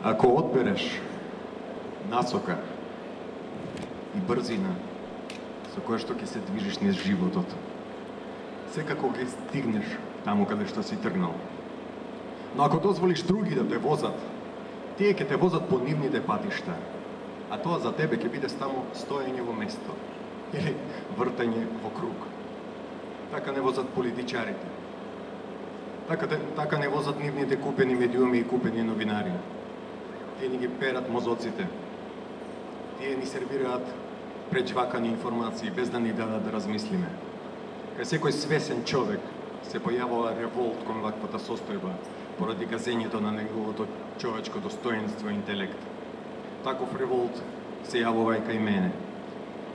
Ако одбереш насока и брзина со која што ќе се движиш низ животот, секако ќе стигнеш таму каде што си тргнал. Но ако дозволиш други да те возат, тие ќе те возат по нивните патишта, а тоа за тебе ќе биде само стоење во место или вртање во круг. Така не возат политичарите. Така не возат нивните купени медиуми и купени новинари. Тие ни ги перат мозоците. Тие ни сервираат преџвакани информации без да ни дадат да размислиме. Кај секој свесен човек се појавува револт кон ваквата состојба поради газењето на неговото човечко достоинство и интелект. Таков револт се јавува и кај мене.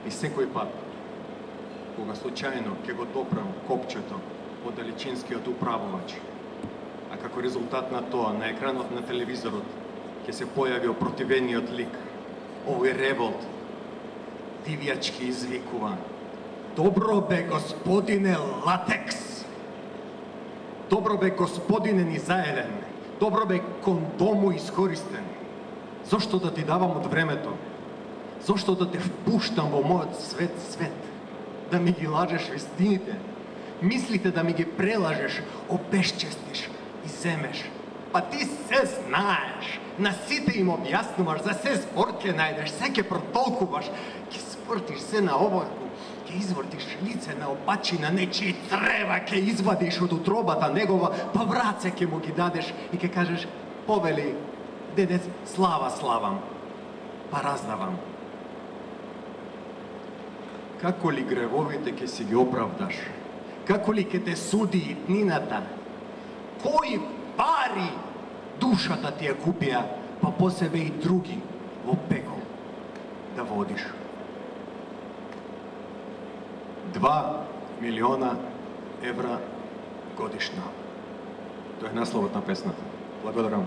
И секој пат, кога случајно ќе го допрам копчето од далечинскиот управувач, а како резултат на тоа на екранот на телевизорот ќе се појави опротивениот лик, овој револт дивјачки извикува: "Добро бе, господине Латекс! Добро бе, господине низаеден! Добро бе, кондому искористен! Зошто да ти давам од времето? Зошто да те впуштам во мојот свет? Да ми ги лажеш вестините? Мислите да ми ги прелажеш, обесчестиш и земеш? Па ти се знаеш! На сите им објаснуваш, за се збор ќе најдеш, се ќе протолкуваш, ќе спортиш се на облаку, ќе извртиш лице на опачи на нечии црева, ќе извадиш од утробата негова, па враце ќе му ги дадеш и ќе кажеш: "Повели, деде, слава славам, па раздавам." Како ли гревовите ќе си ги оправдаш? Како ли ќе те суди иднината? Кои пари душата ти ја купија, па по себе и други во пекол да водиш? 2 милиона евра годишно. Тоа е насловот на песната. Благодарам.